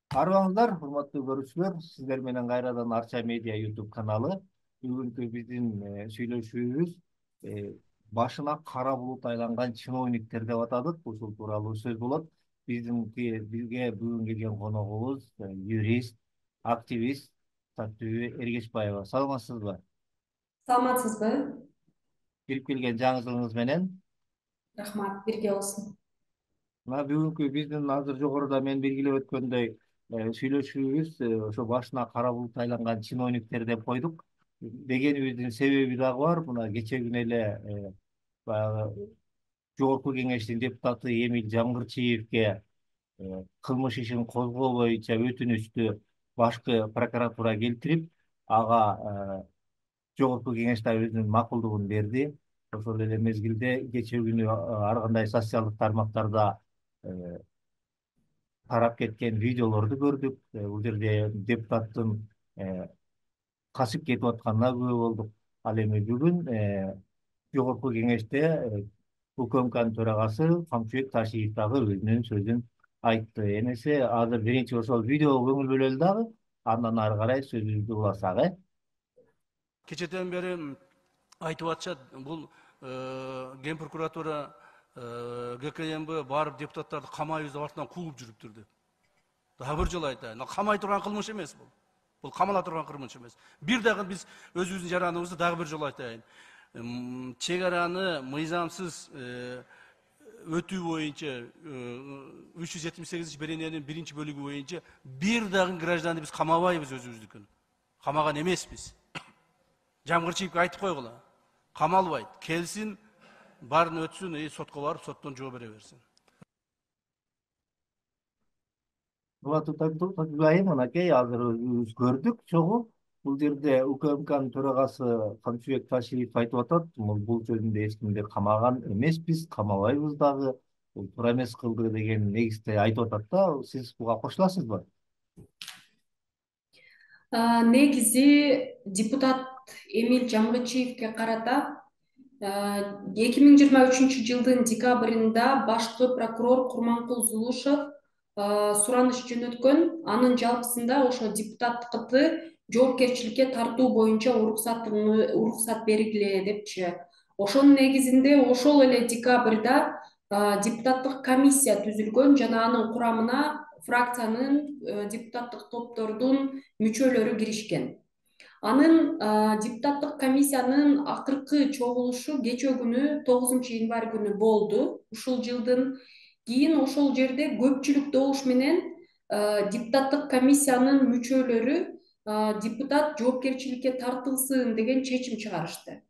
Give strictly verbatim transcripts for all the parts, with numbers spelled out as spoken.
Арыбаңыздар, урматтуу көрүүчүлөр, сиздер менен кайрадан Арча медиа YouTube каналы. Бүгүнкү биздин э, сүйлөшүүбүз э, башына кара булут айланган чиновниктер деп атадык. Ушул тууралуу сөз болот. Биздинки бизге бүгүн келген коногубуз э, юрист, активист Таттыбү Эргечбаева. Саламатсызбы? Саламатсызбы? Келип келген жаңылыгыңыз менен. Рахмат, бирге болсун. Мына бүгүнкү биздин азыр жогоруда мен белгилеп өткөндөй э, сүйлөшүүбүз э, ошо башына кара булут айланган чиновниктер деп койдук. Дегенибиздин себеби дагы бар. Мына кечээ күнү эле э, баягы Жогорку Кеңештин депутаты Эмиль Жамгырчиевке э, кылмыш ишин козгоо боюнча өтүнүчтү башкы прокуратура келтирип, ага э, Жогорку Кеңеш да өзүнүн макулдугун берди. Ошол эле мезгилде кечээ күнү э, ар кандай социалдык тармактарда э, тарап кеткен видеолорду көрдүк. Э, Бул жерде депутаттын э, качып кетип атканына күбө болдук. Ал эми бүгүн э, Жогорку Кеңеште э, УКМКнын төрагасы Камчыбек Ташиев дагы өзүнүн сөзүн айтты. Эмесе азыр биринчи ошол видеого көңүл бөлөлү дагы, андан ары карай сөзүбүздү уласак, э? Кечеден бери айтып атышат, бул Ген прокуратура ГКМБ барып депутаттарды камайбыз деп артынан кууп жүрүптүр деп. Дагы бир жолу айтайын, камай турган кылмыш эмес бул. Бул камала турган кылмыш эмес. Бир дагы биз өзүбүздүн жараныбызды дагы бир жолу айтайын. Чек араны мыйзамсыз өтүү боюнча үч жүз жетимиш сегизинчи берененин биринчи бөлүгү боюнча бир дагы гражданды биз камабайбыз өзүбүздүкүн. Камаган эмеспиз. Жамгырчиевке айтып койгула. Камалбайт, келсин, баарын өтсүн, и сотко барып, соттон жооп бере берсин. Татыбай, мынакей азыр өзүбүз көрдүк чогуу. Бул жерде УКМКнын төрагасы Камчыбек Ташиев айтып атат, бул сөзүндө эч кимди камаган эмеспиз, камабайбыз дагы, бул туура эмес кылды деген негизде айтып атат да. Сиз буга кошуласызбы? Негизи депутат Эмиль Жамгырчиевке карата эки миң жыйырма үчүнчү жылдын декабрында башкы прокурор Курманкул Зулушев сураныш жөнөткөн. Анын жалпысында ошо депутаттыкты жоопкерчиликке тартуу боюнча уруксат бергиле депчи. Ошонун негизинде ошол эле декабрда депутаттык комиссия түзүлгөн жана анын курамына фракциянын депутаттык топтордун мүчөлөрү киришкен. Анын депутаттык комиссиянын акыркы чогулушу кечээ күнү тогузунчу январь күнү болду. Ушул жылдын кийин ошол жерде көпчүлүк добуш менен депутаттык комиссиянын мүчөлөрү депутат жоопкерчиликке тартылсын деген чечим чыгарышты.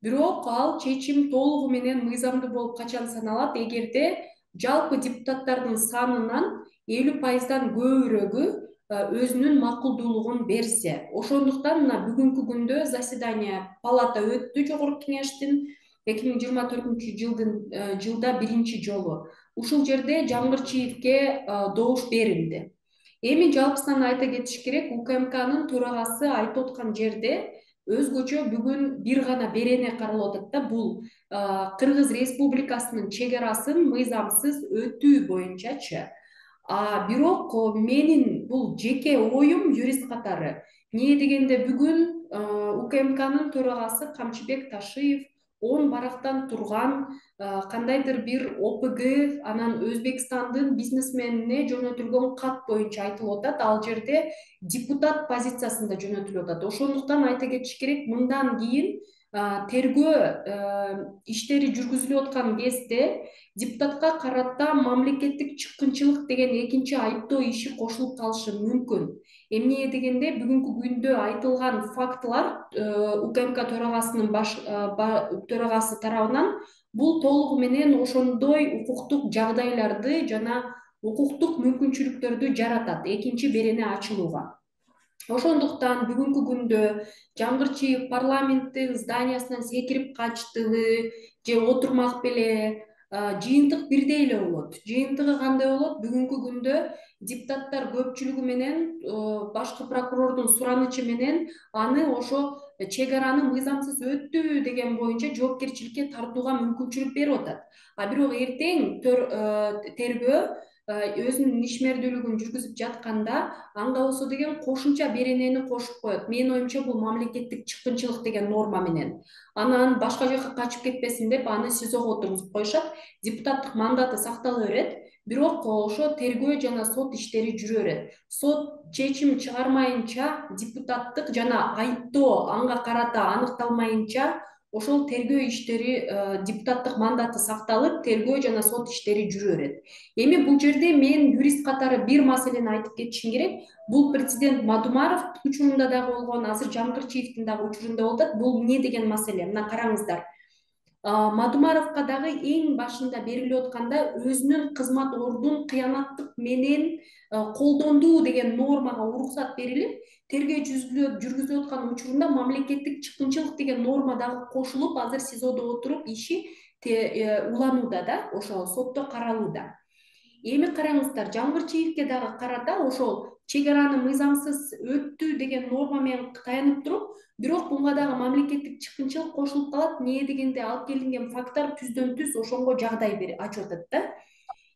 Бирок ал чечим толугу менен мыйзамдуу болуп качан саналат эгерде жалпы депутаттардын санынан элүү пайыздан көбүрөгү өзүнүн макулдуулугун берсе. Ошондуктан мына бүгүнкү күндө заседание палата өттү Жогорку Кеңештин эки миң жыйырма төртүнчү жылдын жылда биринчи жолу. Ушул жерде Жамгырчиевке добуш берилди. Эми жалпысынан айта кетиш керек, УКМКнын төрагасы айтып аткан жерде өзгөчө бүгүн бир гана берене каралып атат да, бул Кыргыз Республикасынын чек арасын мыйзамсыз өтүү боюнчачы. А бирок менин бул жеке оюм юрист катары. Эмне дегенде бүгүн УКМКнын төрагасы Камчыбек Ташиев он барактан турган кандайдыр бир ОПГ, анан Өзбекстандын бизнесменине жөнөтүлгөн кат боюнча айтылып атат. Ал жерде депутат позициясында жөнөтүлүп атат. Ошондуктан айта кетиш керек, мындан кийин тергөө иштери жүргүзүлүп аткан кезде депутатка карата мамлекеттик чыккынчылык деген экинчи айыптоо иши кошулуп калышы мүмкүн. Эмне дегенде бүгүнкү күндө айтылган фактылар УКМК төрагасынын баш төрагасы тарабынан бул толугу менен ошондой укуктук жагдайларды жана укуктук мүмкүнчүлүктөрдү жаратат экинчи берене ачылууга. Ошондуктан бүгүнкү күндө Жамгырчиев парламенттин зданиясынан секирип качтыбы же отурмак беле, жыйынтык бирдей эле болот. Жыйынтыгы кандай болот? Бүгүнкү күндө депутаттар көпчүлүгү менен башкы прокурордун суранычы менен аны ошо чек араны мыйзамсыз өттү деген боюнча жоопкерчиликке тартууга мүмкүнчүлүк берип атат. А бирок эртең тергөө өзүнүн ишмердүүлүгүн жүргүзүп жатканда аңга болсо деген кошумча беренени кошуп коет. Менин оюмча бул мамлекеттик чыккынчылык деген норма менен. Анан башка жака качып кетпесин деп аны СИЗОго отургузуп коюшат. Депутаттык мандаты сактала берет, бирок ошо тергөө жана сот иштери жүрө берет. Сот чечим чыгармайынча, депутаттык жана айыптоо анга карата аныкталмайынча ошол тергөө иштери, депутаттык мандаты сакталып, тергөө жана сот иштери жүрө берет. Эми бул жерде мен юрист катары бир маселени айтып кетишим керек. Бул президент Мадумаров учурунда дагы болгон, азыр Жамгырчиевдин дагы учурунда болуп атат. Бул эмне деген маселе? Мына караңыздар. Мадумаровго дагы эң башында берилип атканда өзүнүн кызмат ордун кыянаттык менен колдонду деген нормага уруксат берилип, тергөө жүргүзүлүп аткан учурунда мамлекеттик чыккынчылык деген норма дагы кошулуп, азыр СИЗОдо отуруп иши уланууда да, ошо сотто каралууда. Эми караңыздар, Жамгырчиевге дагы карата ошол чек араны мыйзамсыз өттү деген норма менен таянып туруп, бирок буга дагы мамлекеттик чыккынчылык кошулуп калат. Эмне дегенде алып келинген факттар түздөн түз ошонго жагдай ачып атат да.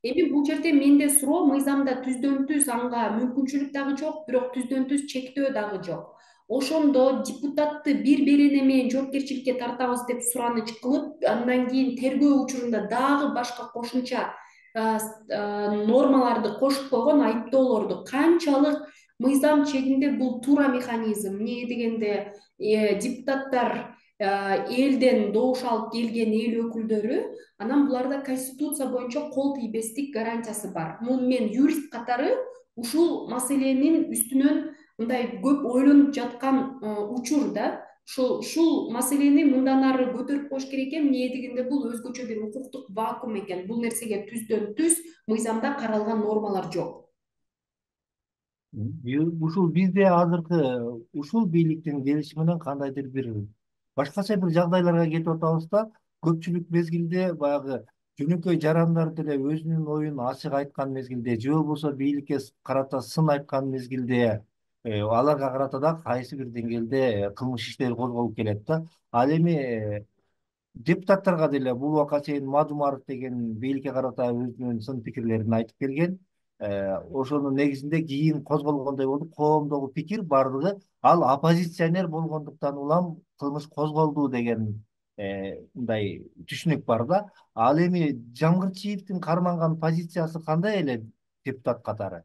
Эми бул жерде менде суроо, мыйзамда түздөн түз анга мүмкүнчүлүк дагы жок, бирок түздөн түз чектөө дагы жок. Ошондо депутатты бир берене менен жоопкерчиликке тартабыз деп сураныч кылып, андан кийин тергөө учурунда дагы башка кошумча нормаларды кошуп койгон, айыптоолорду канчалык мыйзам чегинде бул туура механизм? Эмне дегенде депутаттар элден добуш алып келген эл өкүлдөрү, анан буларда конституция боюнча кол тийбестик гарантиясы бар. Мен юрист катары ушул маселенин үстүнөн мындай көп ойлонуп жаткан учур да. Ушул ушул маселени мындан ары көтөрүп коюш керек экен. Эмне дегенде бул өзгөчө бир укуктук вакуум экен. Бул нерсеге түздөн түз мыйзамда каралган нормалар жок. Ушул бизде азыркы ушул бийликтин келиши менен кандайдыр бир башкача бир жагдайларга кетип атабыз да. Көпчүлүк мезгилде баягы жөнөкөй жарандар деле өзүнүн оюн ачык айткан мезгилде, же болбосо бийликке карата сын айткан мезгилде аларга карата да кайсы бир деңгээлде кылмыш иштери козголуп келет да. Ал эми депутаттарга деле бул убакка чейин Мадумаров деген бийликке карата өзүнүн сын пикирлерин айтып келген. Ошонун негизинде кийин козголгондой болуп, коомдогу пикир бардыгы ал оппозиционер болгондуктан улам кылмыш козголду деген мындай түшүнүк бар да. Ал эми Жамгырчиевдин карманган позициясы кандай эле депутат катары?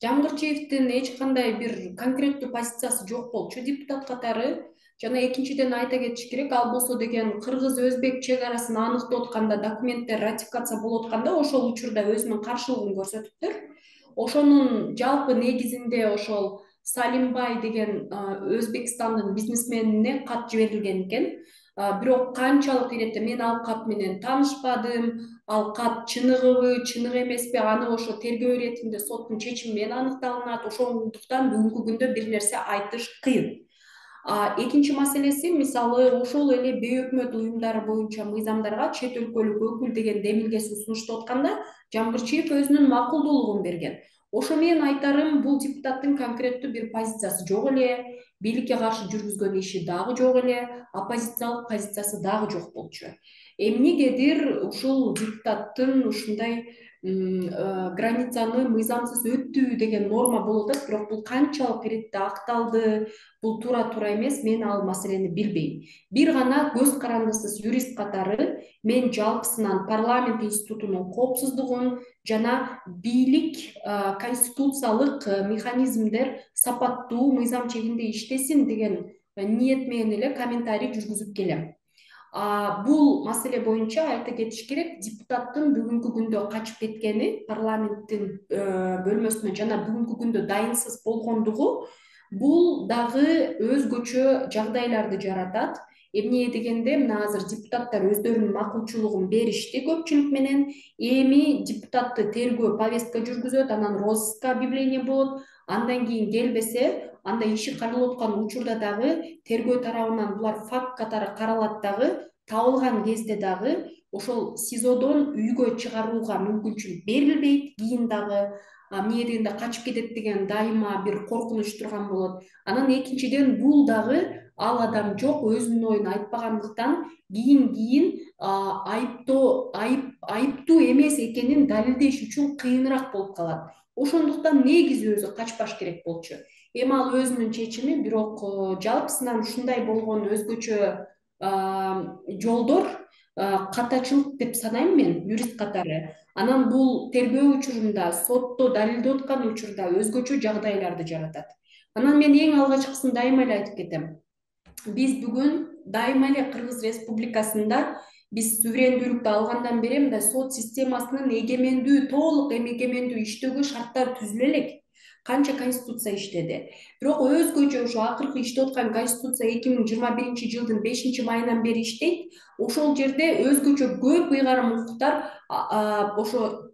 Жамгырчиевдин эч кандай бир конкреттүү позициясы жок болчу депутат катары. Жана экинчиден айта кетиш керек, ал болсо деген кыргыз-өзбек чек арасын аныктап атканда, документтер ратификация болуп атканда ошол учурда өзүнүн каршылыгын көрсөтүптүр. Ошонун жалпы негизинде ошол Салимбай деген Өзбекстандын бизнесменине кат жиберилген экен. Бирок канчалык иретте мен ал кат менен таанышпадым, ал кат чыныгыбы, чыныгы эмеспи, аны ошо тергөө иретинде соттун чечими менен аныкталынат. Ошондуктан бүгүнкү күндө бир нерсе айтыш кыйын. Экинчи маселеси, мисалы, ошол эле бейөкмөт уюмдары боюнча мыйзамдарга чет өлкөлүк өкүл деген демилгеси сунуштап атканда Жамгырчиев өзүнүн макулдуулугун берген. Ошо менен айтарым, бул депутаттын конкреттүү бир позициясы жок эле, бийликке каршы жүргүзгөн иши дагы жок эле, оппозициялык позициясы дагы жок болчу. Эмнегедир ушул депутаттын ушундай границаны мыйзамсыз өттү деген норма болуп атат, бирок бул канчалык иретте акталды, бул туура-туура эмес, мен ал маселени билбейм. Бир гана көз карандысыз юрист катары мен жалпысынан парламент институтунун коопсуздугун жана бийлик конституциялык механизмдер сапаттуу мыйзам чегинде иштесин деген ниет менен эле комментарий жүргүзүп келем. Бул маселе боюнча айта кетиш керек, депутаттын бүгүнкү күндө качып кеткени, парламенттин бөлмөсүнө жана бүгүнкү күндө дайынсыз болгондугу бул дагы өзгөчө жагдайларды жаратат. Эмне дегенде, мына азыр депутаттар өздөрүнүн макулчулугун беришти көпчүлүк менен. Эми депутатты тергөө повестка жүргүзөт, анан розыска объявление болот. Андан кийин келбесе, анда иши каралып аткан учурда дагы тергөө тарабынан булар факт катары каралат дагы, табылган кезде дагы ошол СИЗОдон үйгө чыгарууга мүмкүнчүлүк берилбейт. Кийин дагы эмне дегенде качып кетет деген дайыма бир коркунуч турган болот. Анан экинчиден, бул дагы ал адам жок, өзүнүн оюн айтпагандыктан кийин кийин айыптоо айып айыптуу эмес экенин далилдеш үчүн кыйыныраак болуп калат. Ошондуктан негизи өзү качпаш керек болчу. Эми ал өзүнүн чечими, бирок жалпысынан ушундай болгон өзгөчө жолдор катачылык деп санайм мен юрист катары. Анан бул тергөө учурунда, сотто далилдеп аткан учурда өзгөчө жагдайларды жаратат. Анан мен эң алгачкысын дайыма эле айтып кетем. Биз бүгүн дайыма эле Кыргыз Республикасында биз суверендүүлүктү алгандан бери мындай сот системасынын эгемендүү, толук эгемендүү иштөөгө шарттар түзүлө элек. Канча конституция иштеди. Бирок өзгөчө ошо акыркы иштеп аткан конституция эки миң жыйырма биринчи жылдын бешинчи майынан бери иштейт. Ошол жерде өзгөчө көп ыйгарым укуктар ошо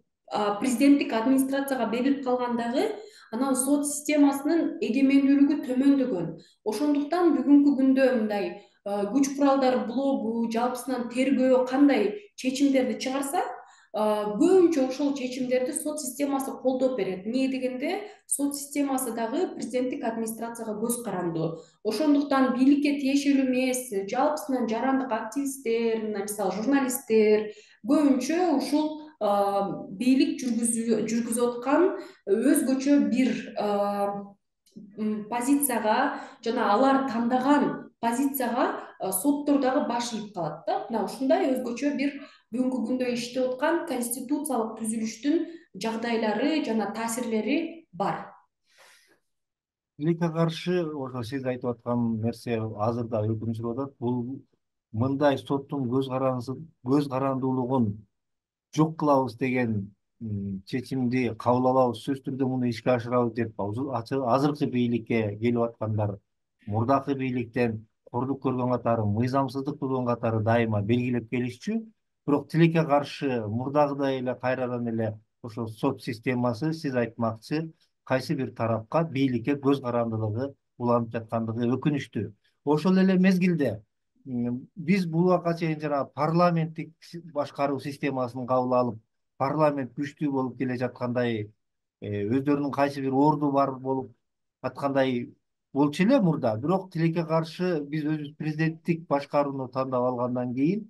президенттик администрацияга берилип калган дагы, анан сот системасынын эгемендүүлүгү төмөндөгөн. Ошондуктан бүгүнкү күндө мындай күч куралдары блогу, жалпысынан тергөө кандай чечимдерди чыгарса, көбүнчө ошол чечимдерди сот системасы колдоп берет. Эмне дегенде сот системасы дагы президенттик администрацияга көз карандуу. Ошондуктан бийликке тиешелүү эмес, жалпысынан жарандык активисттер, мисалы журналисттер көбүнчө ушул бийлик жүргүзүп аткан өзгөчө бир позицияга жана алар тандаган позицияга соттор дагы баш ийип калат да. Мына ушундай өзгөчө бир бүгүнкү күндө иштеп аткан конституциялык түзүлүштүн жагдайлары жана таасирлери бар. Тилекке каршы ошо сиз айтып аткан нерсе азыр да өкүм сүрүп атат. Бул мындай соттун көз көз карандуулугун жок кылабыз деген чечимди кабыл алабыз, сөзсүз түрдө муну ишке ашырабыз деп азыркы бийликке келип аткандар мурдакы бийликтен кордук көргөн катары, мыйзамсыздык болгон катары дайыма белгилеп келишчү. Бирок тилекке каршы мурдагыдай эле кайрадан эле ошо сот системасы сиз айтмакчы кайсы бир тарапка бийликке көз карандылыгы уланып жаткандыгы өкүнүчтүү. Ошол эле мезгилде биз бул убакка чейин жанагы парламенттик башкаруу системасын кабыл алып, парламент күчтүү болуп келе жаткандай, өздөрүнүн кайсы бир орду бар болуп аткандай болчу эле мурда. Бирок тилекке каршы биз өзүбүз президенттик башкарууну тандап алгандан кийин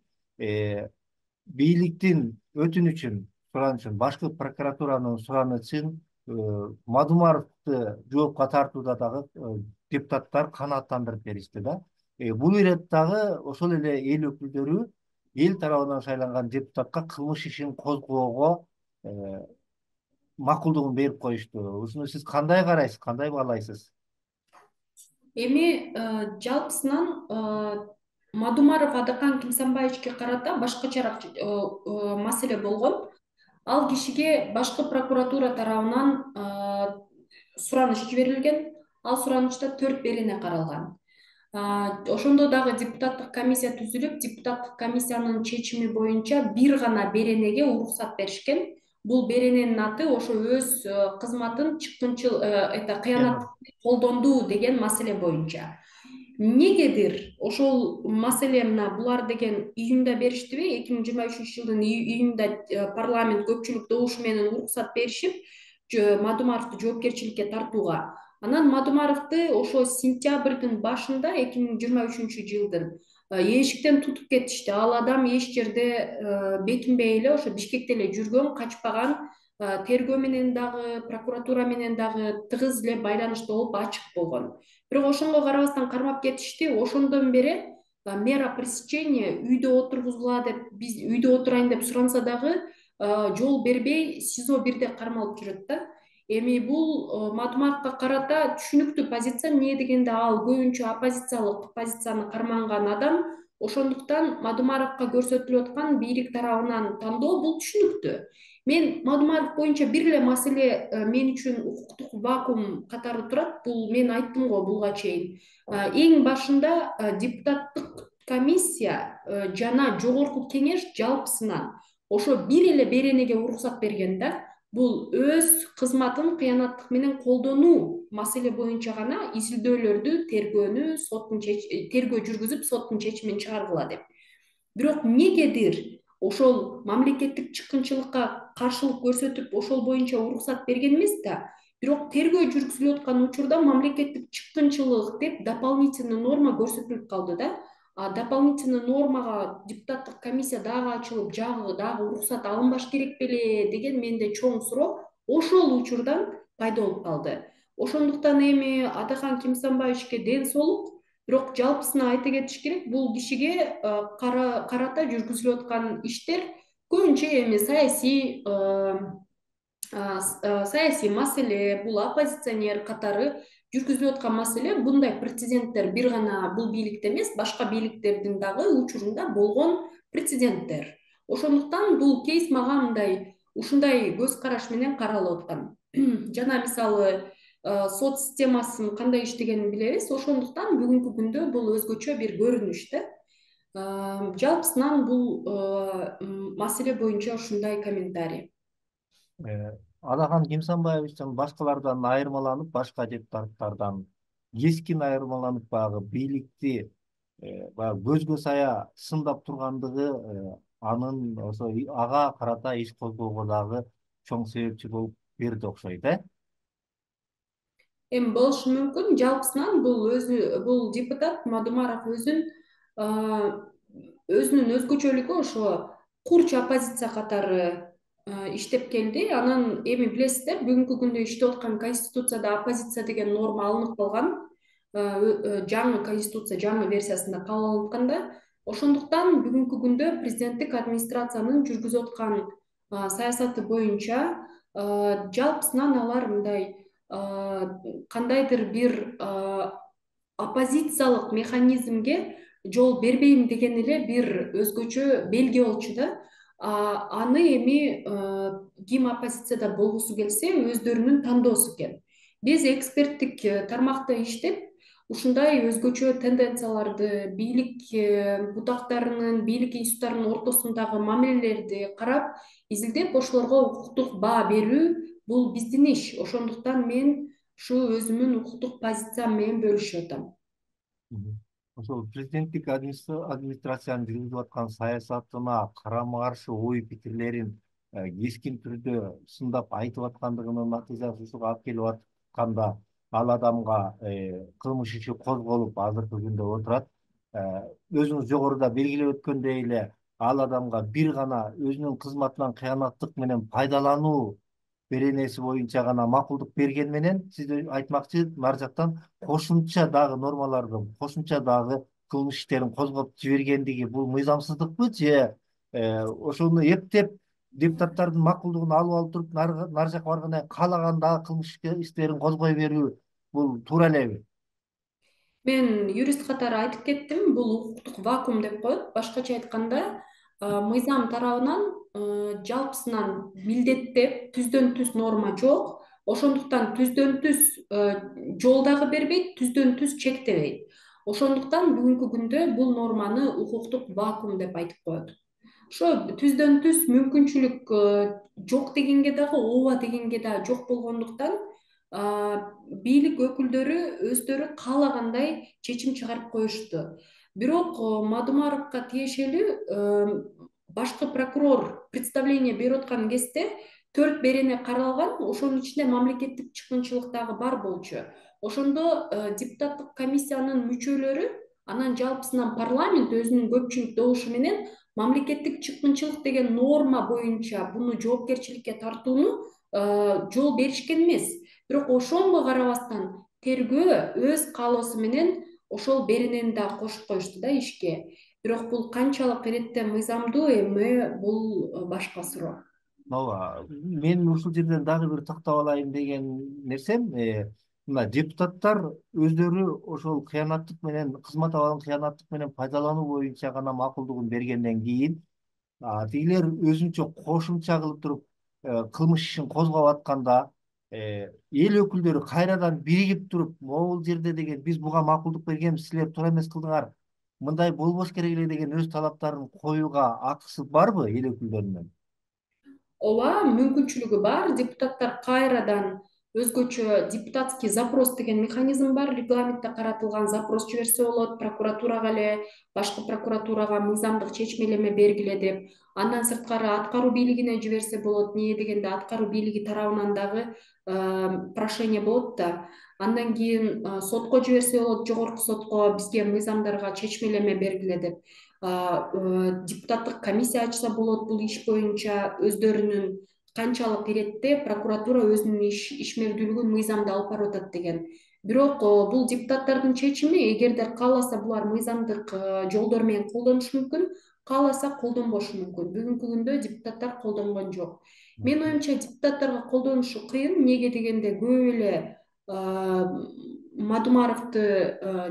бийликтин өтүнүчүн, суранычын, башкы прокуратуранын суранычын Мадумаровду жоопко тартууда дагы депутаттар канааттандырып беришти да. Бул иреттагы ошол эле эл өкүлдөрү эл тарабынан шайланган депутатка кылмыш ишин козгоого макулдугун берип коюшту. Ушуну сиз кандай карайсыз, кандай баалайсыз? Эми жалпысынан Мадумаров Адакан Кимсанбаевичке карата башкачараак маселе болгон. Ал кишиге башкы прокуратура тарабынан сураныч жиберилген. Ал суранычта төрт берене каралган. Ошондо дагы депутаттык комиссия түзүлүп, депутаттык комиссиянын чечими боюнча бир гана беренеге уруксат беришкен. Бул берененин аты ошо өз кызматын чыккынчыл это кыянаттыкты колдонду деген маселе боюнча. Эмнегедир ошол маселе мына булар деген июнда бериштиби? эки миң жыйырма үчүнчү жылдын июнда парламент көпчүлүк добуш менен уруксат беришип, Мадумаровду жоопкерчиликке тартууга. Анан Мадумаровду ошо сентябрдын башында эки миң жыйырма үчүнчү жылдын эшиктен тутуп кетишти. Ал адам эч жерде бекинбей эле ошо Бишкекте эле жүргөн, качпаган, тергөө менен дагы, прокуратура менен дагы тыгыз эле байланышта болуп, ачык болгон. Бирок ошонго карабастан кармап кетишти. Ошондон бери мера пресечения үйдө отургузгула деп, биз үйдө отурайын деп суранса дагы жол бербей СИЗО бирде кармалып жүрөт да. Эми бул Мадумаровго карата түшүнүктүү позиция. Эмне дегенде ал көбүнчө оппозициялык позицияны карманган адам. Ошондуктан Мадумаровго көрсөтүлүп аткан бийлик тарабынан тандоо бул түшүнүктүү. Мен Мадумаров боюнча бир эле маселе мен үчүн укуктук вакуум катары турат. Бул мен айттым го буга чейин. Эң башында депутаттык комиссия жана жогорку кеңеш жалпысынан ошо бир эле беренеге уруксат берген да. Бул өз кызматын кыянаттык менен колдонуу маселе боюнча гана изилдөөлөрдү, тергөөнү, соттун тергөө жүргүзүп, соттун чечимин чыгаргыла деп. Бирок эмнегедир ошол мамлекеттик чыккынчылыкка каршылык көрсөтүп, ошол боюнча уруксат берген эмес да. Бирок тергөө жүргүзүлүп аткан учурда мамлекеттик чыккынчылык деп дополнительный норма көрсөтүлүп калды да. дополнительный нормага депутаттык комиссия дагы ачылып, жагы дагы уруксат алынбаш керек беле деген менде чоң суроо ошол учурдан пайда болуп калды. Ошондуктан эми Адахан Кимсанбаевичке ден соолук, бирок жалпысына айта кетиш керек, бул кишиге карата жүргүзүлүп аткан иштер көбүнчө эми саясий саясий маселе, бул оппозиционер катары жүргүзүлүп аткан маселе. Bunday прецеденттер бир гана бул бийликте эмес, башка бийликтердин дагы учурунда болгон прецеденттер. Ошондуктан бул кейс мага мындай ушундай көз караш менен каралып аткан. Жана мисалы сот системасын кандай иштегенин билебиз. Ошондуктан бүгүнкү күндө бул өзгөчө бир көрүнүш да. Жалпысынан бул маселе боюнча ушундай комментарий. Адахан Кимсанбаевичтен башкалардан айырмаланып, башка депутаттардан кескин айырмаланып, баягы бийликти баягы көзгө сая сындап тургандыгы анын ошо ага карата иш козгоого дагы чоң себепчи болуп берди окшойт, э? Эми болушу мүмкүн. Жалпысынан бул өзү бул депутат Мадумаров өзүн өзүнүн өзгөчөлүгү ошо курч оппозиция катары иштеп келди. Анан эми билесиздер, бүгүнкү күндө иштеп аткан конституцияда оппозиция деген норма алынып калган. Жаңы конституция жаңы версиясында кабыл алынып атканда, ошондуктан бүгүнкү күндө президенттик администрациянын жүргүзүп аткан саясаты боюнча жалпысынан алар мындай кандайдыр бир оппозициялык механизмге жол бербейм деген эле бир өзгөчө белги болчу да. Аны эми ким оппозицияда болгусу келсе өздөрүнүн тандоосу экен. Биз эксперттик тармакта иштеп, ушундай өзгөчө тенденцияларды, бийлик бутактарынын, бийлик институттарынын ортосундагы мамилелерди карап, изилдеп, ошолорго укуктук баа берүү бул биздин иш. Ошондуктан мен ушу өзүмдүн укуктук позициям менен бөлүшүп атам. Ошол президенттик администрациянын жүргүзүп аткан саясатына карама каршы ой пикирлерин кескин түрдө сындап айтып аткандыгынын натыйжасы ушуга алып келип атканда, ал адамга кылмыш иши козголуп азыркы күндө отурат. Өзүңүз жогоруда белгилеп өткөндөй эле, ал адамга бир гана өзүнүн кызматынан кыянаттык менен пайдалануу беренеси боюнча гана макулдук берген менен, сиз айтмакчы, нар жактан кошумча дагы нормаларды, кошумча дагы кылмыш иштерин козгоп жибергендиги бул мыйзамсыздыкпы же ошону эптеп депутаттардын макулдугун алып алып туруп нар жака баргандан кийин каалаган дагы кылмыш иштерин козгой берүү бул туура элеби? Мен юрист катары айтып кеттим, бул укуктук вакуум деп коет. Башкача айтканда, мыйзам тарабынан жалпысынан милдеттеп түздөн түз норма жок. Ошондуктан түздөн түз жол дагы бербейт, түздөн түз чектебейт. Ошондуктан бүгүнкү күндө бул норманы укуктук вакуум деп айтып коет. Ошо түздөн түз мүмкүнчүлүк жок дегенге дагы, ооба дегенге дагы жок болгондуктан бийлик өкүлдөрү өздөрү каалагандай чечим чыгарып коюшту. Бирок Мадумаровго тиешелүү башкы прокурор представление берип аткан кезде төрт берене каралган, ошонун ичинде мамлекеттик чыккынчылык дагы бар болчу. Ошондо депутаттык комиссиянын мүчөлөрү, анан жалпысынан парламент өзүнүн көпчүлүк добушу менен мамлекеттик чыккынчылык деген норма боюнча буну жоопкерчиликке тартууну жол беришкен эмес. Бирок ошонго карабастан тергөө өз каалоосу менен ошол беренени да кошуп коюшту да ишке. Бирок бул канчалык иретте мыйзамдуу, эми бул башка суроо. Ооба, мен ушул жерден дагы бир токтоп алайын деген нерсем, мына депутаттар өздөрү ошол кыянаттык менен, кызмат абалын кыянаттык менен пайдалануу боюнча гана макулдугун бергенден кийин, тигилер өзүнчө кошумча кылып туруп кылмыш ишин козгоп атканда, эл өкүлдөрү кайрадан биригип туруп, могул жерде деген биз буга макулдук бергенбиз, силер туура эмес кылдыңар, мындай болбош керек эле деген өз талаптарын коюуга акысы барбы эл өкүлдөрүнүн? Ооба, мүмкүнчүлүгү бар. Депутаттар кайрадан өзгөчө депутатский запрос деген механизм бар. Регламентте каратылган запрос жиберсе болот, прокуратурага эле, башкы прокуратурага мыйзамдык чечмелеме бергиле деп. Андан сырткары аткаруу бийлигине жиберсе болот. Эмне дегенде аткаруу бийлиги тарабынан дагы прошение болот да. Андан кийин сотко жиберсе болот, жогорку сотко бизге мыйзамдарга чечмелеме бергиле деп. Депутаттык комиссия ачса болот бул иш боюнча. Өздөрүнүн канчалык иретте прокуратура өзүнүн ишмердүүлүгүн мыйзамда алып барып атат деген. Бирок бул депутаттардын чечими. Эгерде кааласа булар мыйзамдык жолдор менен колдонушу мүмкүн, кааласа колдонбошу мүмкүн. Бүгүнкү күндө депутаттар колдонгон жок. Менин оюмча депутаттарга колдонушу кыйын. Эмнеге дегенде көп эле Мадумаровду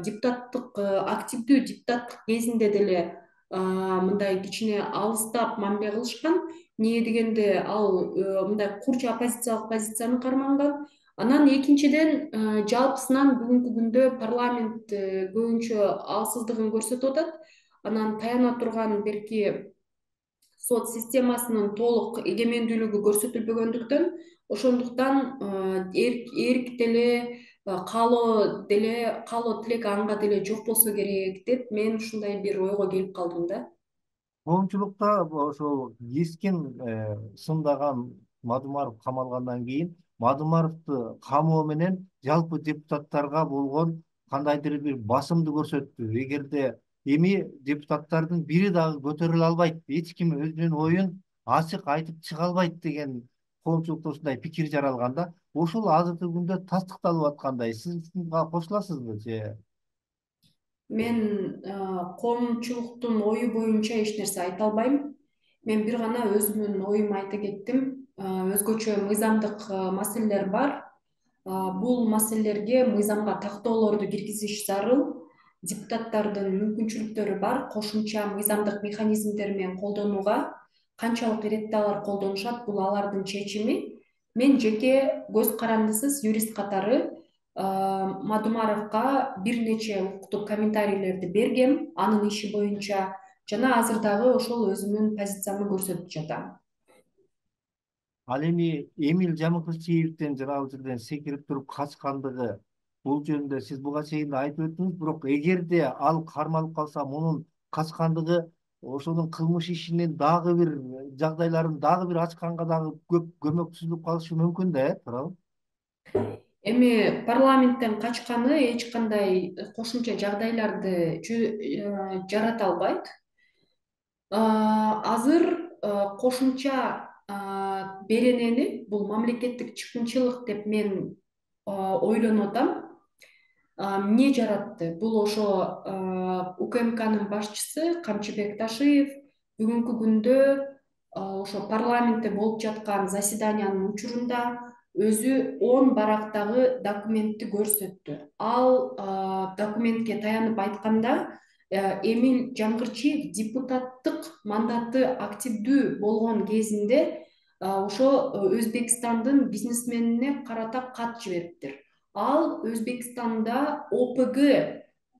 депутаттык активдүү депутаттык кезинде деле мындай кичине алыстап мамиле кылышкан. Эмне дегенде ал мындай курч оппозициялык позицияны карманган. Анан экинчиден жалпысынан бүгүнкү күндө парламент көбүнчө алсыздыгын көрсөтүп атат. Анан таяна турган берки сот системасынын толук эгемендүүлүгү көрсөтүлбөгөндүктөн, ошондуктан эрк деле, каалоо деле, каалоо тилек анга деле жок болсо керек деп мен ушундай бир ойго келип калдым да. Коомчулукта ошол кескин сындаган Мадумаров камалгандан кийин Мадумаровду камоо менен жалпы депутаттарга болгон кандайдыр бир басымды көрсөттү. Эгерде эми депутаттардын бири дагы көтөрүлө албайт, эч ким өзүнүн оюн ачык айтып чыга албайт деген коомчулукта ушундай пикир жаралган да. Ошол азыркы күндө тастыкталып аткандай. Сиз буга кошуласызбы же? Мен коомчулуктун ою боюнча эч нерсе айта албайм. Мен бир гана өзүмдүн оюмду айта кеттим. Өзгөчө мыйзамдык маселелер бар. Бул маселелерге мыйзамга тактоолорду киргизиш зарыл. Депутаттардын мүмкүнчүлүктөрү бар кошумча мыйзамдык механизмдер менен колдонууга. Канчалык иретте алар колдонушат, бул алардын чечими. Мен жеке көз карандысыз юрист катары Мадумаровго бир нече укуктук комментарийлерди бергем анын иши боюнча жана азыр дагы ошол өзүмдүн позициямды көрсөтүп жатам. Ал эми Эмиль Жамыкырчиевден жанагы жерден секирип туруп качкандыгы, бул жөнүндө сиз буга чейин да айтып өттүңүз, бирок эгерде ал кармалып калса, мунун качкандыгы ошонун кылмыш ишинин дагы бир жагдайларын дагы бир ачканга дагы көп көмөксүзүп калышы мүмкүн да, э, туурабы? Эми парламенттен качканы эч кандай кошумча жагдайларды жарата албайт. Азыр кошумча беренени, бул мамлекеттик чыккынчылык деп мен ойлонуп атам. Эмне жаратты? Бул ошо УКМКнын башчысы Камчыбек Ташиев бүгүнкү күндө ошо парламентте болуп жаткан заседаниянын учурунда өзү он барактагы документти көрсөттү. Ал документке таянып айтканда, Эмиль Жамыкырчиев депутаттык мандаты активдүү болгон кезинде ошо Өзбекстандын бизнесменине карата кат жибериптир. Ал Өзбекстанда ОПГ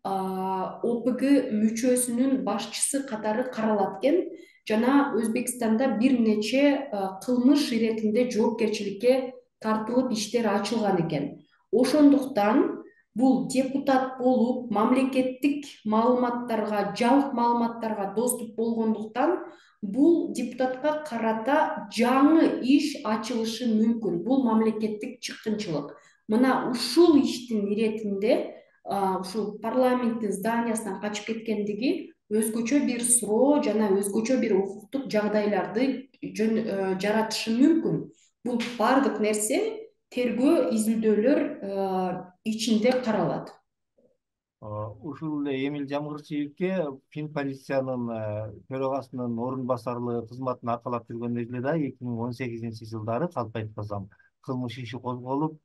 ОПГ мүчөсүнүн башчысы катары каралат экен жана Өзбекстанда бир нече кылмыш иретинде жоопкерчиликке тартылып иштер ачылган экен. Ошондуктан бул депутат болуп, мамлекеттик маалыматтарга, жалпы маалыматтарга доступ болгондуктан бул депутатка карата жаңы иш ачылышы мүмкүн. Бул мамлекеттик чыккынчылык. Мына ушул иштин иретинде ушул парламенттин зданиясынан качып кеткендиги өзгөчө бир суроо жана өзгөчө бир укуктук жагдайларды жаратышы мүмкүн. Бул бардык нерсе тергөө изилдөөлөр ичинде каралат. Ушул эле Эмиль Жамыкырчиевге Финполициянын төрагасынын орун басарлыгы кызматын аркалап жүргөн эле да эки миң он сегизинчи жылдары калп айтпасам кылмыш иши козголуп,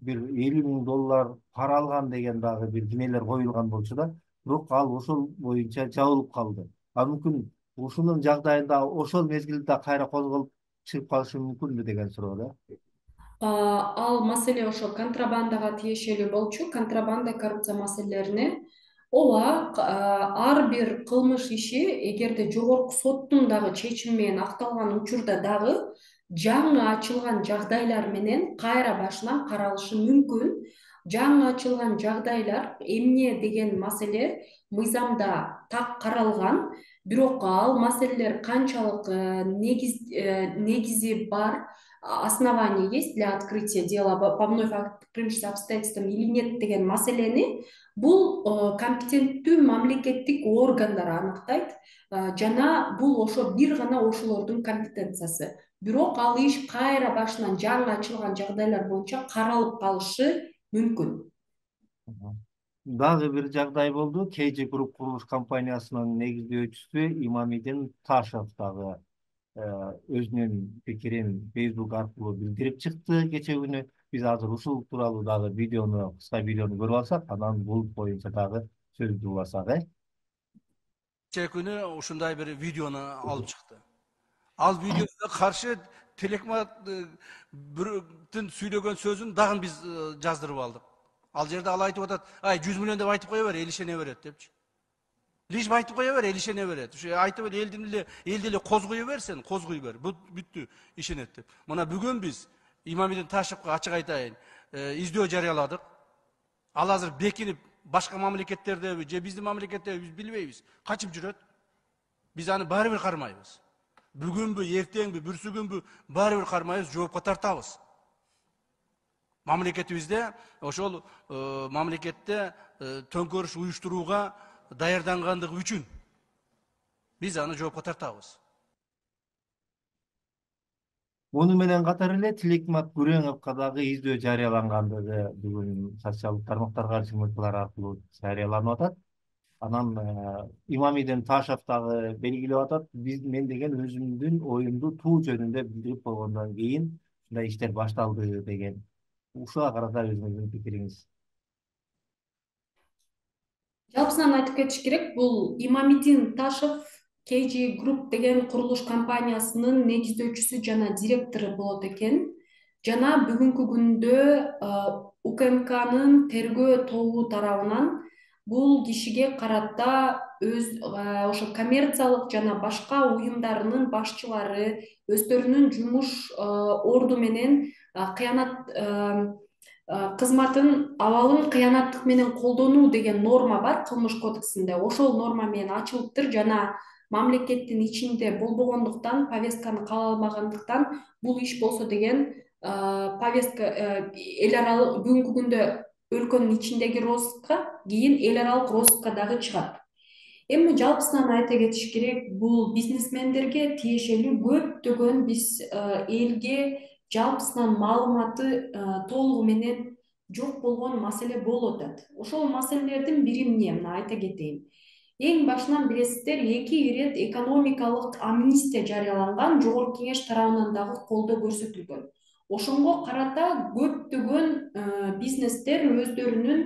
бир элүү миң доллар пара алган деген дагы бир кинелер коюлган болчу да. Бирок ал ошол боюнча жабылып калды. А мүмкүн ушунун жагдайында ошол мезгилде кайра козголуп чыгып калышы мүмкүнбү деген суроо да. Ал маселе ошо контрабандага тиешелүү болчу, контрабанда коррупция маселелерине. Ооба, ар бир кылмыш иши эгерде жогорку соттун дагы чечими менен акталган учурда дагы жаңы ачылган жагдайлар менен кайра башынан каралышы мүмкүн. Жаңы ачылган жагдайлар эмне деген маселе мыйзамда так каралган, бирок ал маселелер канчалык негиз негизи бар, основания есть для открытия дела по вновь открывшимся обстоятельствам или нет деген маселени бул компетенттүү мамлекеттик органдар аныктайт жана бул ошо бир гана ошолордун компетенциясы. Бирок ал иш кайра башынан жаңы ачылган жагдайлар боюнча каралып калышы мүмкүн. Дагы бир жагдай болду. кей джи Group курулуш компаниясынын негиздөөчүсү Имамидин Ташев дагы өзүнүн пикирин Facebook аркылуу билдирип чыкты кече күнү. Биз азыр ушул тууралуу дагы видеону, кыска видеону көрүп алсак, анан бул боюнча дагы сөздү уласак, э? Кече күнү ушундай бир видеону алып чыкты. Ал видеода каршы Телекматтын сүйлөгөн сөзүн дагы биз жаздырып алдык. Ал жерде ал айтып атат, ай жүз миллион деп айтып кое бер, эл ишене берет депчи. Лишь айтып кое бер, эл ишене берет. Ушу айтып эле элдин эле элди эле козгой бер сен, козгой бер. Бүттү, ишенет деп. Мына бүгүн биз Имамидин Ташевка ачык айтайын, издөө жарыяладык. Ал азыр бекинип башка мамлекеттердеби же биздин мамлекеттеби биз билбейбиз. Качып жүрөт. Биз аны баары бир кармайбыз. Бүгүнбү, эртеңби, бүрсүгүнбү баары бир кармайбыз, жоопко тартабыз. Мамлекетибизде ошол мамлекетте төңкөрүш уюштурууга даярдангандыгы үчүн биз аны жоопко тартабыз. Муну менен катар эле Тилекмат Күреңовго дагы издөө жарыялангандыгы бүгүн социалдык тармактарга чыгымдуулар аркылуу жарыяланып атат. Анан Имамидин Ташев дагы белгилеп атат, биз мен деген өзүмдүн оюмду туу жөнүндө билдирип койгондон кийин ушундай иштер башталды деген. Ушуга карата өзүңүздүн пикириңиз? Жалпысынан айтып кетиш керек, бул Имамидин Ташев кей джи Group деген курулуш компаниясынын негиздөөчүсү жана директору болот экен. Жана бүгүнкү күндө У К М Кнын тергөө тобу тарабынан бул кишиге карата өз ошо коммерциялык жана башка уюмдарынын башчылары өздөрүнүн жумуш орду менен кыянат кызматын абалын кыянаттык менен колдонуу деген норма бар кылмыш кодексинде. Ошол норма менен ачылыптыр жана мамлекеттин ичинде болбогондуктан, повестканы каала алмагандыктан бул иш болсо деген повестка эл аралык бүгүнкү күндө өлкөнүн ичиндеги розыскка, кийин эл аралык розыскка дагы чыгат. Эми жалпысынан айта кетиш керек, бул бизнесмендерге тиешелүү көптөгөн биз элге жалпысынан маалыматы толугу менен жок болгон маселе болуп атат. Ошол маселелердин бири эмне? Мына айта кетейин. Эң башынан билесиздер, эки ирет экономикалык амнистия жарыяланган, Жогорку Кеңеш тарабынан дагы колдоо көрсөтүлгөн. Ошонго карата көптөгөн бизнестер өздөрүнүн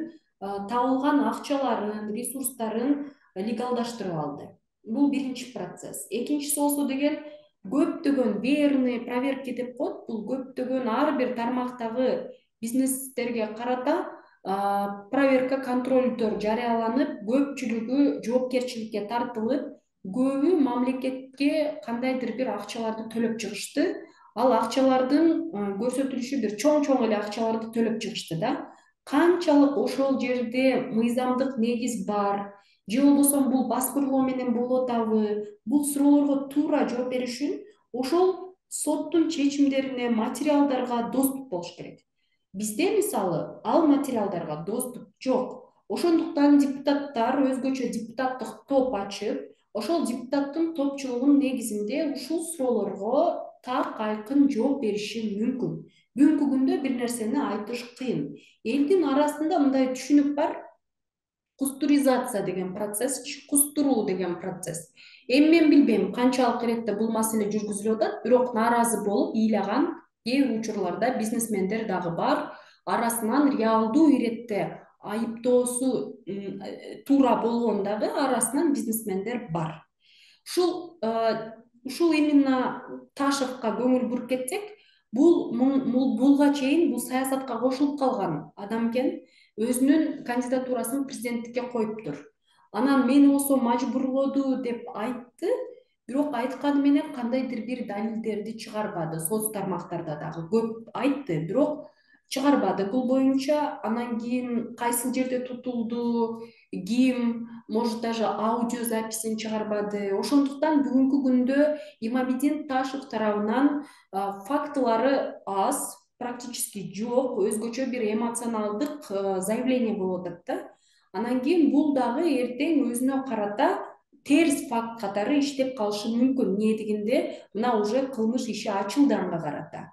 табылган акчаларын, ресурстарын легалдаштырып алды. Бул биринчи процесс. Экинчиси болсо деген көптөгөн верные проверки деп коет, бул көптөгөн ар бир тармактагы бизнестерге карата проверка, контролдор жарыяланып, көпчүлүгү жоопкерчиликке тартылып, көбү мамлекетке кандайдыр бир акчаларды төлөп чыгышты. Ал акчалардын көрсөтүлүшү бир чоң-чоң эле акчаларды төлөп чыгышты да. Канчалык ошол жерде мыйзамдык негиз бар, же болбосо бул баскырлоо менен болуп атабы, бул суроолорго туура жооп бериш үчүн ошол соттун чечимдерине, материалдарга доступ болуш керек. Бизде мисалы ал материалдарга доступ жок. Ошондуктан депутаттар өзгөчө депутаттык топ ачып, ошол депутаттын топчулугунун негизинде ушул суроолорго так айкын жооп бериши мүмкүн. Бүгүнкү күндө бир нерсени айтыш кыйын. Элдин арасында мындай түшүнүк бар: кустуризация деген процесс, кустуруу деген процесс. Эми мен билбейм канчалык иретте бул маселе жүргүзүлүп атат, бирок нааразы болуп ыйлаган кээ бир учурларда бизнесмендер дагы бар. Арасынан реалдуу иретте айыптоосу туура болгон дагы арасынан бизнесмендер бар. Ушул ушул именно Ташевка көңүл буруп кетсек, бул булга чейин бул саясатка кошулуп калган адам экен, өзүнүн кандидатурасын президенттикке коюптур. Анан мени болсо мажбурлоду деп айтты. Бирок айтканы менен кандайдыр бир далилдерди чыгарбады. Соц тармактарда дагы көп айтты, бирок чыгарбады бул боюнча. Анан кийин кайсыл жерде тутулду, ким, может даже аудио записин чыгарбады. Ошондуктан бүгүнкү күндө Имамидин Ташев тарабынан фактылары аз, практически жок, өзгөчө бир эмоционалдык заявление болуп атат да. Анан кийин бул дагы эртең өзүнө карата терс факт катары иштеп калышы мүмкүн. Эмне дегенде мына уже кылмыш иши ачылды анга карата.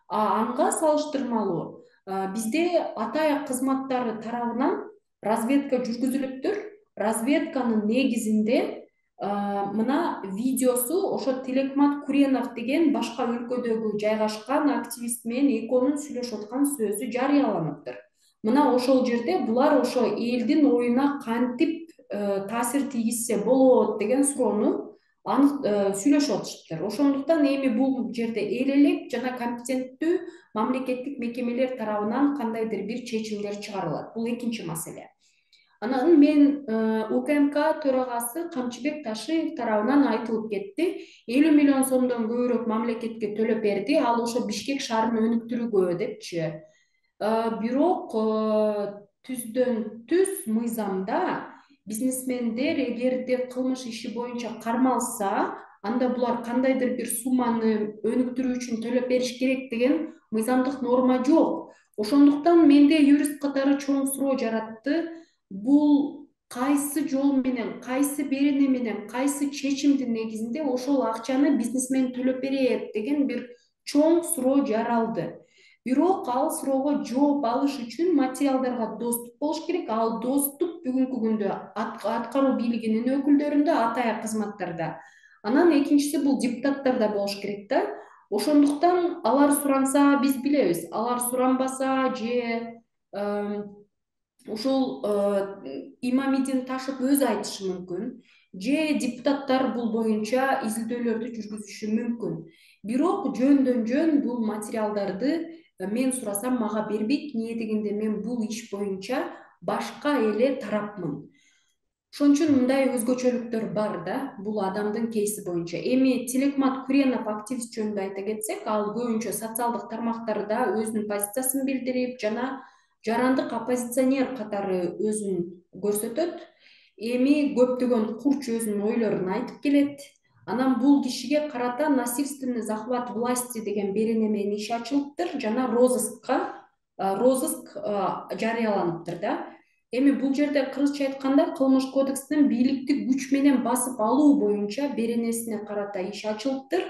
Анга салыштырмалуу бизде ата аяк кызматтары тарабынан разведка жүргүзүлүптүр. Разведканын негизинде мына видеосу ошо Телекмат Куренов деген башка өлкөдөгү жайгашкан активист менен экөөнүн сүйлөшүп аткан сөзү жарыяланыптыр. Мына ошол жерде булар ошо элдин оюна кантип таасир тийгизсе болот деген суроону анык сүйлөшүп атышыптыр. Ошондуктан эми бул жерде эл элек жана компетенттүү мамлекеттик мекемелер тарабынан кандайдыр бир чечимдер чыгарылат. Бул экинчи маселе. Анан мен УКМК төрагасы Камчыбек Ташиев тарабынан айтылып кетти. элүү миллион сомдон көбүрөөк мамлекетке төлөп берди, ал ошо Бишкек шаарын өнүктүрүүгө депчи. Бирок түздөн түз мыйзамда бизнесмендер эгерде кылмыш иши боюнча кармалса, анда булар кандайдыр бир сумманы өнүктүрүү үчүн төлөп бериш керек деген мыйзамдык норма жок. Ошондуктан менде юрист катары чоң суроо жаратты. Бул кайсы жол менен, кайсы берене менен, кайсы чечимдин негизинде ошол акчаны бизнесмен төлөп берет деген бир чоң суроо жаралды. Бирок ал суроого жооп алыш үчүн материалдарга доступ болуш керек. Ал доступ бүгүнкү күндө аткаруу бийлигинин өкүлдөрүндө, ата аяк кызматтарда. Анан экинчиси бул депутаттарда болуш керек да. Ошондуктан алар суранса биз билебиз, алар суранбаса же ушул Имамидин Ташев өзү айтышы мүмкүн, же депутаттар бул боюнча изилдөөлөрдү жүргүзүшү мүмкүн. Бирок жөндөн жөн бул материалдарды мен сурасам мага бербейт. Эмне дегенде мен бул иш боюнча башка эле тарапмын. Ошон үчүн мындай өзгөчөлүктөр бар да бул адамдын кейси боюнча. Эми Телекмат Куренов активист жөнүндө айта кетсек, ал көбүнчө социалдык тармактарда өзүнүн позициясын билдирип жана жарандык оппозиционер катары өзүн көрсөтөт. Эми көптөгөн курч өзүнүн ойлорун айтып келет. Анан бул кишиге карата насильственный захват власти деген берене менен иш ачылыптыр жана розыскка розыск жарыяланыптыр да. Эми бул жерде кыргызча айтканда кылмыш кодекстин бийликти күч менен басып алуу боюнча беренесине карата иш ачылыптыр.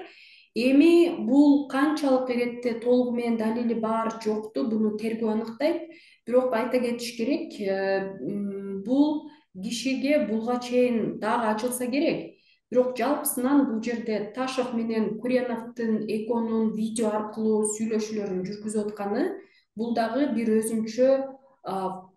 Эми бул канчалык иретте толугу менен далили бар жокту буну тергөө аныктайт. Бирок айта кетиш керек, бул кишиге булга чейин дагы ачылса керек. Бирок жалпысынан бул жерде Ташев менен Куреновдун экөөнүн видео аркылуу сүйлөшүүлөрүн жүргүзүп атканы бул дагы бир өзүнчө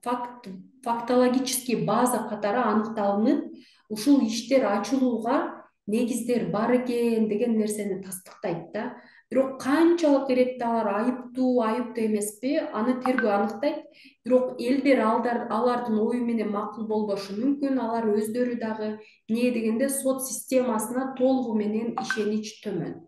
факт фактологический база катары аныкталынып, ушул иштер ачылууга негиздер бар экен деген нерсени тастыктайт да. Бирок канчалык иретте алар айыптуу, айыптуу эмеспи, аны тергөө аныктайт. Бирок элдер алардын ою менен макул болбошу мүмкүн. Алар өздөрү дагы эмне дегенде сот системасына толугу менен ишенич төмөн.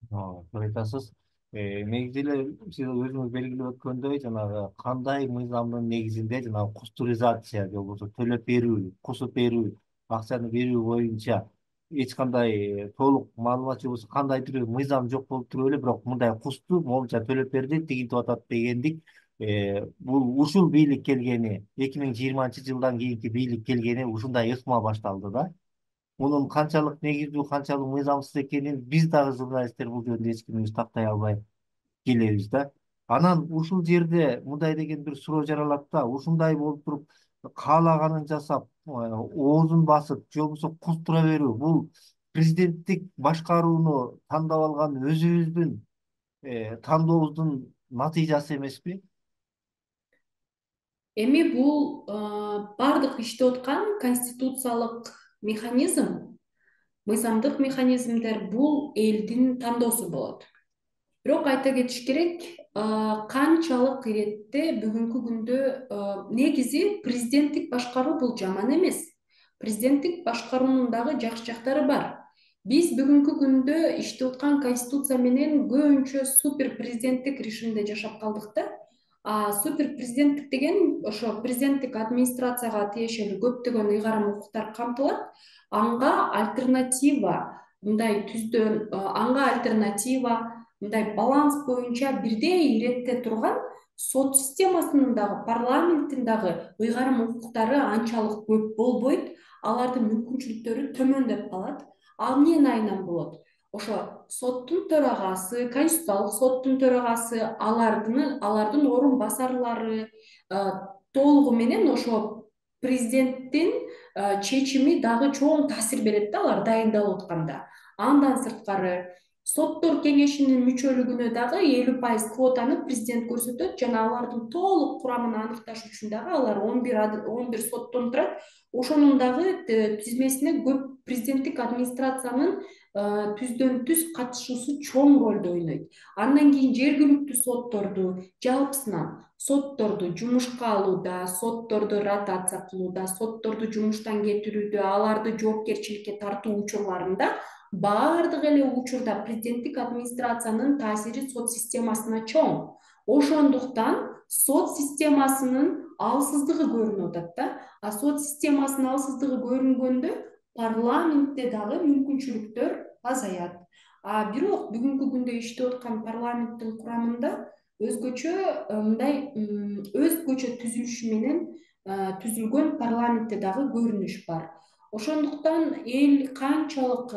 Туура айтасыз. Негизи эле сиз өзүңүз белгилеп өткөндөй, жанагы кандай мыйзамдын негизинде жанагы кустуризация же болбосо төлөп берүү, кусуп берүү, акчаны берүү боюнча эч кандай толук маалымат же болбосо кандайдыр бир мыйзам жок болуп туруп эле, бирок мындай кусту моунча төлөп берди, тигинтип атат дегендик. Бул ушул бийлик келгени, эки миң жыйырманчы жылдан кийинки бийлик келгени ушундай ыкма башталды да. Мунун канчалык негиздүү, канчалык мыйзамсыз экенин биз дагы журналисттер бул жөнүндө эч кимибиз тактай албай келебиз да. Анан ушул жерде мындай деген бир суроо жаралат да. Ушундай болуп туруп каалаганын жасап, оозун басып, же болбосо кустура берүү, бул президенттик башкарууну тандап алган өзүбүздүн тандообуздун натыйжасы эмеспи? Эми бул бардык иштеп аткан конституциялык механизм, мыйзамдык механизмдер бул элдин тандоосу болот. Бирок айта кетиш керек, канчалык иретте бүгүнкү күндө негизи президенттик башкаруу бул жаман эмес. президенттик башкаруунун дагы жакшы жактары бар. Биз бүгүнкү күндө иштеп аткан конституция менен көбүнчө супер президенттик режимде жашап калдык да. А супер президенттик деген ошо президенттик администрацияга тиешелүү көптөгөн ыйгарым укуктар камтылат. Анга альтернатива мындай түздөн анга альтернатива мындай баланс боюнча бирдей иретте турган сот системасынын дагы парламенттин дагы ыйгарым укуктары анчалык көп болбойт. Алардын мүмкүнчүлүктөрү төмөндөп калат. Ал эмне айынан болот? Ошо соттун төрагасы, конституциялык соттун төрагасы, алардын алардын орун басарлары толугу менен ошо президенттин чечими дагы чоң таасир берет да алар дайындалып атканда. Андан сырткары соттор кеңешинин мүчөлүгүнө дагы элүү пайыз квотаны президент көрсөтөт жана алардын толук курамын аныкташ үчүн дагы алар он бир соттон турат. Ошонун дагы тизмесине көп президенттик администрациянын түздөн түз катышуусу чоң ролду ойнойт. Андан кийин жергиликтүү сотторду жалпысынан сотторду жумушка алууда, сотторду ротация кылууда, сотторду жумуштан кетирүүдө, аларды жоопкерчиликке тартуу учурларында баардык эле учурда президенттик администрациянын таасири сот системасына чоң. Ошондуктан сот системасынын алсыздыгы көрүнүп атат да. А сот системасынын алсыздыгы көрүнгөндө парламентте дагы мүмкүнчүлүктөр азаят. А бирок бүгүнкү күндө иштеп аткан парламенттин курамында өзгөчө мындай өзгөчө түзүлүшү менен түзүлгөн парламентте дагы көрүнүш бар. Ошондуктан эл канчалык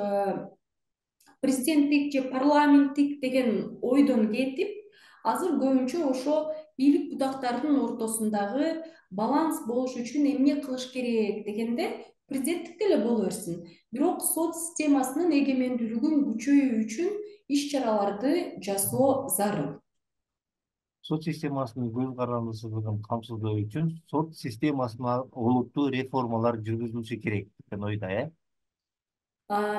президенттик же парламенттик деген ойдон кетип, азыр көбүнчө ошо бийлик будактарынын ортосундагы баланс болуш үчүн эмне кылыш керек дегенде президенттик деле боло берсин. Бирок сот системасынын эгемендүүлүгүн күчөйүү үчүн иш-чараларды жасоо зарыл. Сот системасынын көз карандысыздыгын камсыздоо үчүн сот системасына олуттуу реформалар жүргүзүлүшү керек деген ойда, э?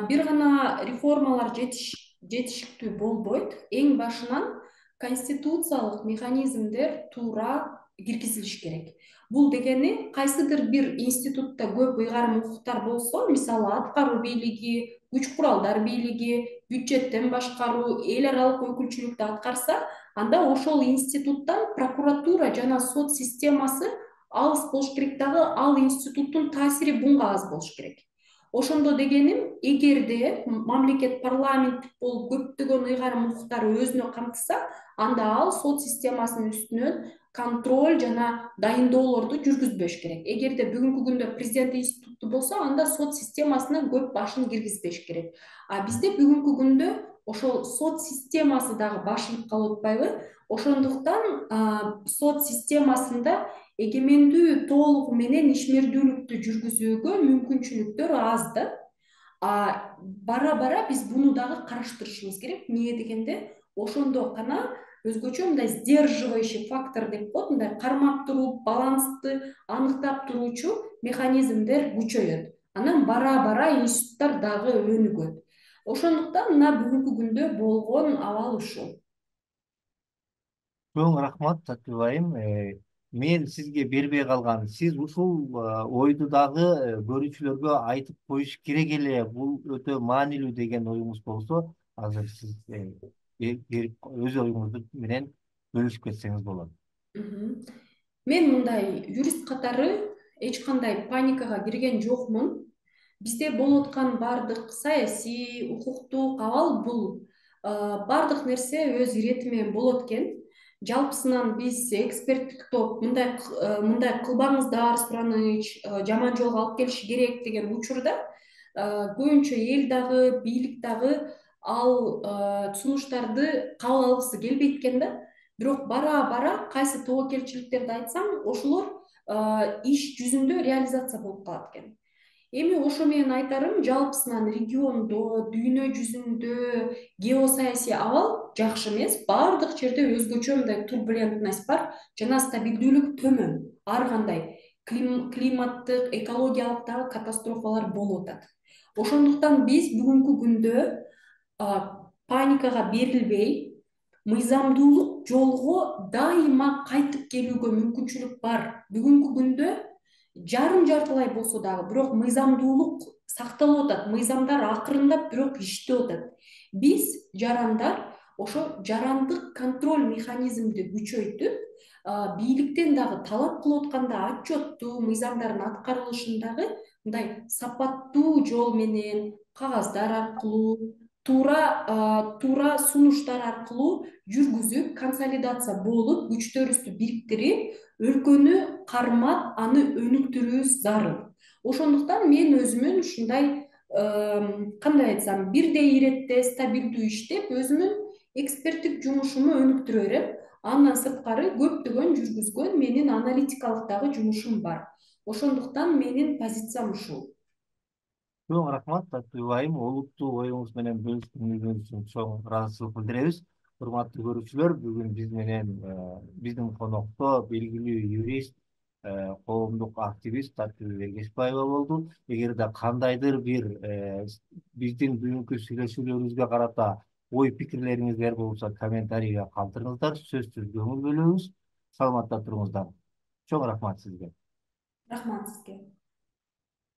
Бир гана реформалар жетиштүү болбойт. Эң башынан конституциялык механизмдер туура киргизилиш керек. Бул дегени кайсыдыр бир институтта көп ыйгарым укуктар болсо, мисалы аткаруу бийлиги, күч куралдар бийлиги, бюджеттен башкаруу, эл аралык өкүлчүлүктү аткарса, анда ошол институттан прокуратура жана сот системасы алыс болуш керек дагы, ал институттун таасири буга аз болуш керек. Ошондо дегеним, эгерде мамлекет парламенттик болуп көптөгөн ыйгарым укуктары өзүнө камтыса, анда ал сот системасынын үстүнөн контроль жана дайындоолорду жүргүзбөш керек. Эгерде бүгүнкү күндө президент институту болсо, анда сот системасына көп башын киргизбеш керек. А бизде бүгүнкү күндө ошол сот системасы дагы башылып калып атпайбы? Ошондуктан сот системасында эгемендүү толугу менен ишмердүүлүктү жүргүзүүгө мүмкүнчүлүктөр аз да. А бара-бара биз буну дагы караштырышыбыз керек. Эмне дегенде, ошондо гана өзгөчө мындай сдерживающий фактор деп коет, мындай кармап туруп, балансты аныктап туруучу механизмдер күчөйөт. Анан бара-бара институттар дагы өнүгөт. Ошондуктан мына бүгүнкү күндө болгон абал ушул. Чоң рахмат, Сатыбек айым. Мен сизге бербей калган, сиз ушул ойду дагы көрүүчүлөргө айтып коюш керек эле, бул өтө маанилүү деген оюңуз болсо, азыр сиз өз оюңузду менен бөлүшүп кетсеңиз болот. Мен мындай юрист катары эч кандай паникага кирген жокмун. Бизде болуп аткан бардык саясий, укуктук абал бул бардык нерсе өз ирети менен болот экен. Жалпысынан биз эксперттик топ мындай мындай кылбаңыздар, Сураныч, жаман жолго алып келиши керек деген учурда көбүнчө эл дагы, бийлик дагы ал сунуштарды кабыл алгысы келбейт экен да. Бирок бара-бара кайсы тобокелчиликтерди айтсам, ошолор иш жүзүндө реализация болуп калат экен. Эми ошо менен айтарым, жалпысынан региондо, дүйнө жүзүндө геосаясий абал жакшы эмес. Бардык жерде өзгөчө мындай турбулентность бар жана стабилдүүлүк төмөн. Ар кандай климаттык, экологиялык дагы катастрофалар болуп атат. Ошондуктан биз бүгүнкү күндө паникага берилбей, мыйзамдуулук жолго дайыма кайтып келүүгө мүмкүнчүлүк бар. Бүгүнкү күндө жарым жартылай болсо дагы бирок мыйзамдуулук сакталып атат, мыйзамдар акырындап бирок иштеп атат. Биз жарандар ошо жарандык контроль механизмди күчөйтүп, бийликтен дагы талап кылып атканда отчеттуу мыйзамдардын аткарылышындагы мындай сапаттуу жол менен кагаздар аркылуу, туура туура сунуштар аркылуу жүргүзүп, консолидация болуп, күчтөрүбүздү бириктирип, өлкөнү кармап, аны өнүктүрүүбүз зарыл. Ошондуктан мен өзүмүн ушундай кандай айтсам, бирдей иретте стабилдүү иштеп, өзүмүн эксперттик жумушуму өнүктүрө берем. Андан сырткары көптөгөн жүргүзгөн менин аналитикалык дагы жумушум бар. Ошондуктан менин позициям ушул. Чоң рахмат, Таттуу Айым. Олуттуу оюңуз менен бөлүшкөнүңүз үчүн чоң ыраазычылык билдиребиз. Урматтуу көрүүчүлөр, бүгүн биз менен биздин конокто белгилүү юрист, коомдук активист Таттуу Эргешбаева болду. Эгерде кандайдыр бир биздин бүгүнкү сүйлөшүүлөрүбүзгө карата ой пикирлериңиздер болсо, комментарийге калтырыңыздар. Сөзсүз көңүл бөлөбүз. Саламатта туруңуздар. Чоң рахмат сизге. Рахмат сизге.